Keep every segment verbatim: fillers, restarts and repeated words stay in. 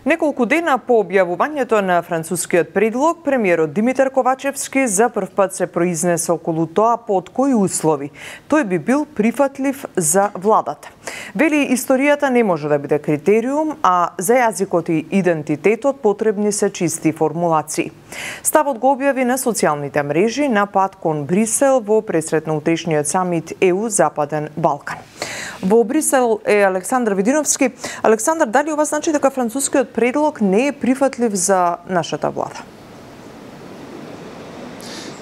Неколку дена по објавувањето на францускиот предлог, премиерот Димитар Ковачевски за прв пат се произнесе околу тоа под кои услови тој би бил прифатлив за владата. Вели, историјата не може да биде критериум, а за јазикот и идентитетот потребни се чисти формулации. Ставот го објави на социјалните мрежи на пат кон Брисел во пресрет на утрешниот самит Е У Западен Балкан. Во Брисел е Александар Видиновски. Александар, дали ова значи дека францускиот предлог не е прифатлив за нашата влада?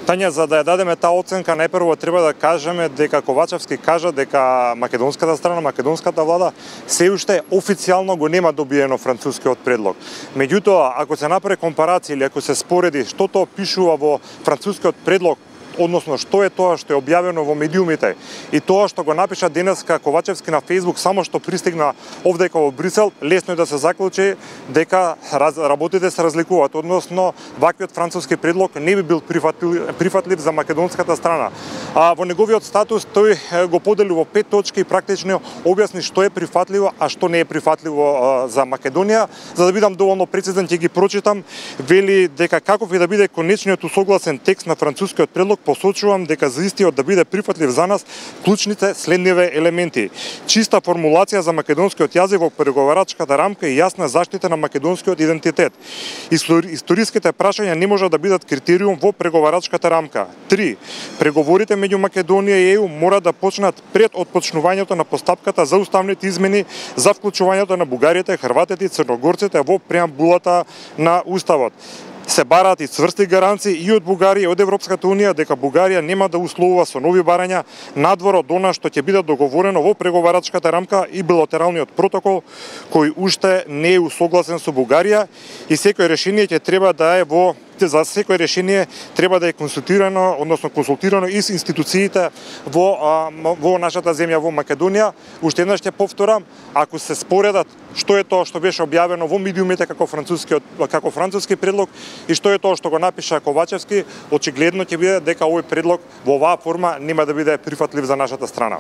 Тања, за да ја дадеме таа оценка, најпрво треба да кажеме дека Ковачевски кажа дека македонската страна, македонската влада се уште официјално го нема добиено францускиот предлог. Меѓутоа, ако се направи компарација или ако се спореди што тоа пишува во францускиот предлог, односно што е тоа што е објавено во медиумите и тоа што го напиша денеска Ковачевски на Facebook, само што пристигна овдека во Брисел, лесно е да се заклучи дека раз, работите се разликуваат, односно ваквиот француски предлог не би бил прифатлив, прифатлив за македонската страна. А во неговиот статус тој го подели во пет точки и практично објасни што е прифатливо, а што не е прифатливо а, за Македонија. За да бидам доволно прецизен, ќе ги прочитам. Вели дека каков и да биде конечниот усогласен текст на францускиот предлог, посочувам дека за истиот да биде прифатлив за нас, клучните следниве елементи: чиста формулација за македонскиот јазик во преговарачката рамка и јасна заштита на македонскиот идентитет. Историските прашања не можат да бидат критериум во преговарачката рамка. Три. Преговорите меѓу Македонија и Е У мора да почнат пред отпочнувањето на постапката за уставните измени за вклучувањето на бугарите, хрватите и црногорците во преамбулата на уставот. Се бараат и цврсти гаранции и од Бугарија и од Европската унија дека Бугарија нема да условува со нови барања надвор од она што ќе биде договорено во преговарачката рамка и билатералниот протокол кој уште не е усогласен со Бугарија, и секој решение ќе треба да е во за секој решение треба да е консултирано, односно консултирано и с институциите во во нашата земја, во Македонија. Уште еднаш ќе повторам, ако се споредат што е тоа што беше објавено во медиумите како францускиот како француски предлог и што е тоа што го напиша Ковачевски, очигледно ќе биде дека овој предлог во оваа форма нема да биде прифатлив за нашата страна.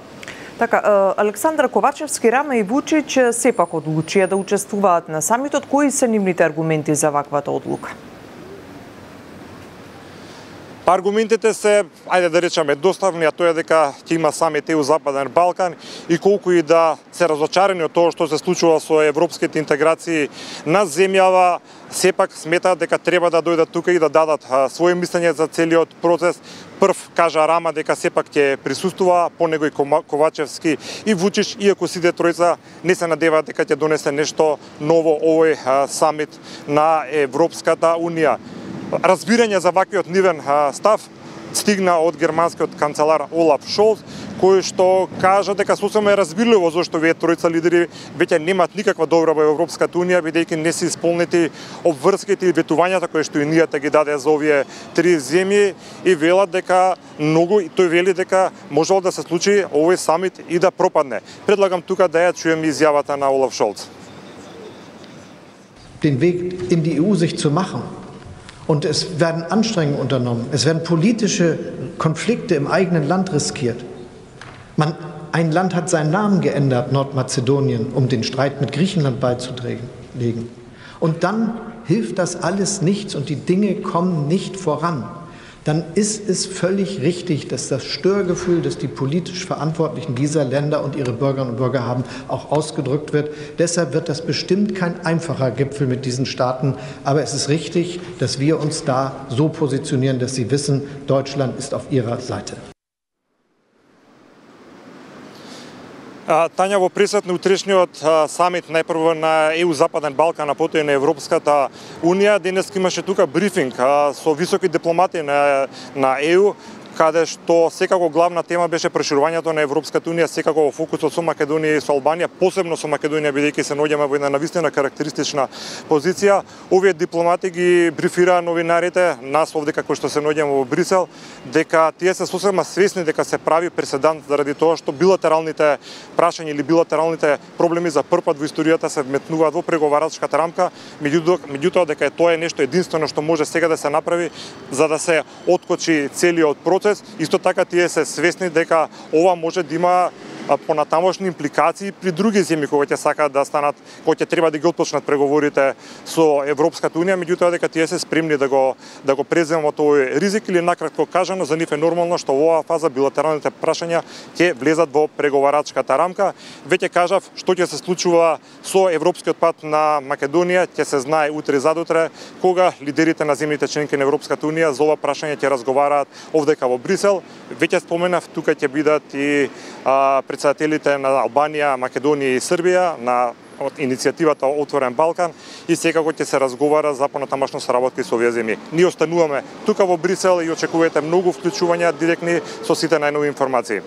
Така, Александар Ковачевски, Рама и Вучич сепак одлучија да учествуваат на самитот. Кои се нивните аргументи за ваквата одлука? Аргументите се, ајде да речеме, доставни, а тоа е дека ќе има самит Е У Западен Балкан и колку и да се разочарени од тоа што се случува со европските интеграции на земјава, сепак сметаат дека треба да дојдат тука и да дадат а, своје мислење за целиот процес. Прв кажа Рама дека сепак ќе присуствува, по него и Ковачевски и Вучич, иако сите тројца не се надеваат дека ќе донесе нешто ново овој а, самит на Европската унија. Разбирање за ваквиот нивен а, став стигна од германскиот канцелар Олаф Шолц, кој што кажа дека сосема е разбирливо зашто овие тројца лидери веќе немаат никаква добра во Европската унија, бидејќи не се исполнети обврските и ветувањата кои што унијата ги даде за овие три земји, и велат дека многу, и тој вели дека можело да се случи овој самит и да пропадне. Предлагам тука да ја чуеме изјавата на Олаф Шолц. Den Weg in die E U sich zu machen. Und es werden Anstrengungen unternommen. Es werden politische Konflikte im eigenen Land riskiert. Man, ein Land hat seinen Namen geändert, Nordmazedonien, um den Streit mit Griechenland beizulegen. Und dann hilft das alles nichts und die Dinge kommen nicht voran. Dann ist es völlig richtig, dass das Störgefühl, das die politisch Verantwortlichen dieser Länder und ihre Bürgerinnen und Bürger haben, auch ausgedrückt wird. Deshalb wird das bestimmt kein einfacher Gipfel mit diesen Staaten. Aber es ist richtig, dass wir uns da so positionieren, dass sie wissen, Deutschland ist auf ihrer Seite. Тања, во пресвет на утрешниот самит најпрво на Е У Западен Балкан, а потоа и на Европската унија, денес имаше тука брифинг со високи дипломати на, на Е У, каде што секако главна тема беше проширувањето на Европската унија, секако во фокусот со Македонија и со Албанија, посебно со Македонија, бидејќи се наоѓаме во една навистина карактеристична позиција. Овие дипломати ги брифираа новинарите, нас овде како што се наоѓаме во Брисел, дека тие се сосема свесни дека се прави преседант заради тоа што билатералните прашања или билатералните проблеми за прв пат во историјата се вметнуваат во преговарачката рамка, меѓутоа дека тоа е нешто единствено што може сега да се направи за да се откочи целиот процес. Исто така тие се свесни дека ова може да има понатамошни импликации при други земји кои ќе сакаат да станат, кои ќе треба да ги отпочнат преговорите со Европската унија, меѓутоа дека тие се спремни да го да го преземат овој ризик, или накратко кажано за нив е нормално што во оваа фаза билатералните прашања ќе влезат во преговарачката рамка. Веќе кажав што ќе се случува со европскиот пат на Македонија, ќе се знае утре задутре, кога лидерите на земјите членки на Европската унија за ова прашање ќе разговараат овдека во Брисел. Веќе споменав, тука ќе бидат и а, председателите на Албанија, Македонија и Србија на од иницијативата Отворен Балкан, и секако ќе се разговара за понатамошна соработка со овие земји. Ние остануваме тука во Брисел и очекувате многу вклучувања директни со сите најнови информации.